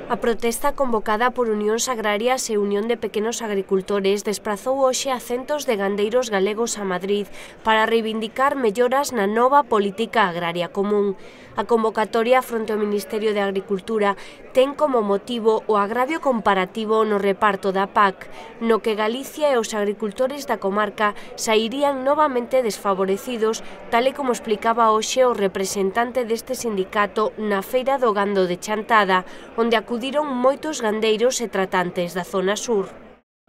A protesta convocada por Unións Agrarias e Unión de Pequenos Agricultores desprazou hoxe a centos de gandeiros galegos a Madrid para reivindicar melloras na nova política agraria común. A convocatoria fronte ao Ministerio de Agricultura ten como motivo o agravio comparativo no reparto da PAC, no que Galicia e os agricultores da comarca sairían novamente desfavorecidos, tal e como explicaba hoxe o representante deste sindicato na Feira do Gando de Chantada, onde acudiron moitos gandeiros e tratantes da zona sur.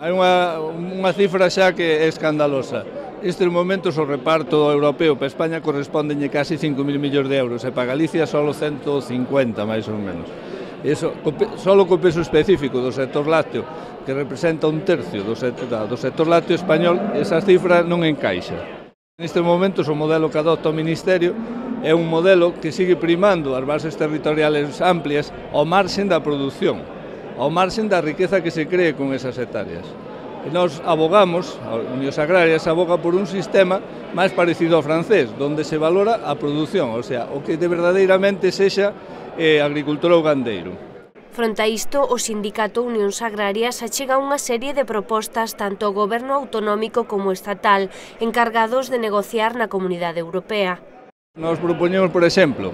Hai unha cifra xa que é escandalosa. Nestes momentos o reparto europeo para España correspondenlle casi 5.000 millóns de euros e para Galicia só 150, máis ou menos. Iso, só co peso específico do sector lácteo, que representa un tercio do sector lácteo español, esa cifra non encaixa. Nestes momentos o modelo que adopta o Ministerio é un modelo que sigue primando as bases territoriales amplias ao marxen da produción, ao marxen da riqueza que se cree con esas hectáreas. E nós abogamos, a Unións Agrarias aboga por un sistema máis parecido ao francés, onde se valora a produción, o sea, o que de verdadeiramente sexa agricultor ou gandeiro. Fronte a isto, o sindicato Unións Agrarias achega unha serie de propostas tanto ao goberno autonómico como estatal, encargados de negociar na Comunidade Europea. Nos propoñemos, por exemplo,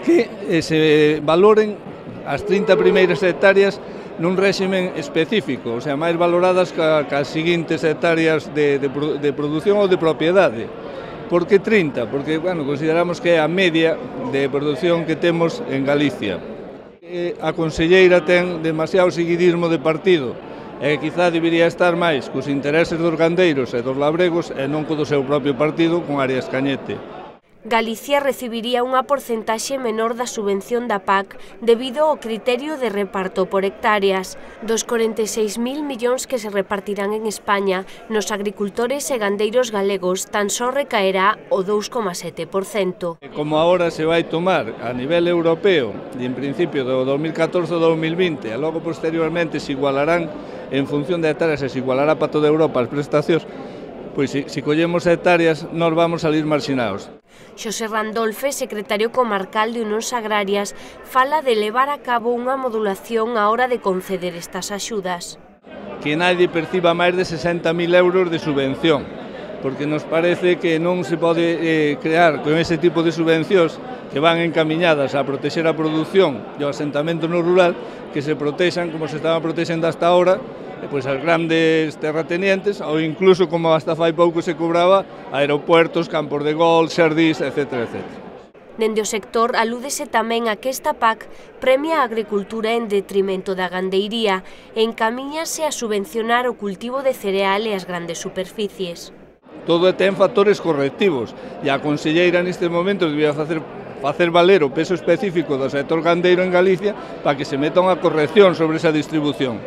que se valoren as 30 primeiras hectáreas nun réximen específico, o sea, máis valoradas que as seguintes hectáreas de produción ou de propiedade. Por que 30? Porque, bueno, consideramos que é a media de produción que temos en Galicia. A conselleira ten demasiado seguidismo de partido e quizá debería estar máis cos intereses dos gandeiros e dos labregos e non co do seu propio partido con Arias Cañete. Galicia recibiría unha porcentaxe menor da subvención da PAC debido ao criterio de reparto por hectáreas. Dos 46.000 millóns que se repartirán en España, nos agricultores e gandeiros galegos tan só recaerá o 2,7%. Como agora se vai tomar a nivel europeo, e en principio do 2014-2020, e logo posteriormente se igualarán en función de hectáreas e se igualará para toda Europa as prestacións, pois se collemos hectáreas nós vamos salir marxinados. Xosé Randolfe, secretario comarcal de Unións Agrarias, fala de levar a cabo unha modulación á hora de conceder estas axudas. Que nadie perciba máis de 60.000 euros de subvención, porque nos parece que non se pode crear con ese tipo de subvencións que van encamiñadas a protexer a produción e o asentamento no rural, que se protexan como se estaban protexendo hasta ahora, pois as grandes terratenientes, ou incluso como hasta fai pouco se cobraba aeropuertos, campos de golf, xardís, etc. Dende o sector alúdese tamén a que esta PAC premia a agricultura en detrimento da gandeiría e encamíñase a subvencionar o cultivo de cereal e as grandes superficies. Todo ten factores correctivos e a conselleira neste momento debía facer valer o peso específico do sector gandeiro en Galicia para que se meta unha corrección sobre esa distribución.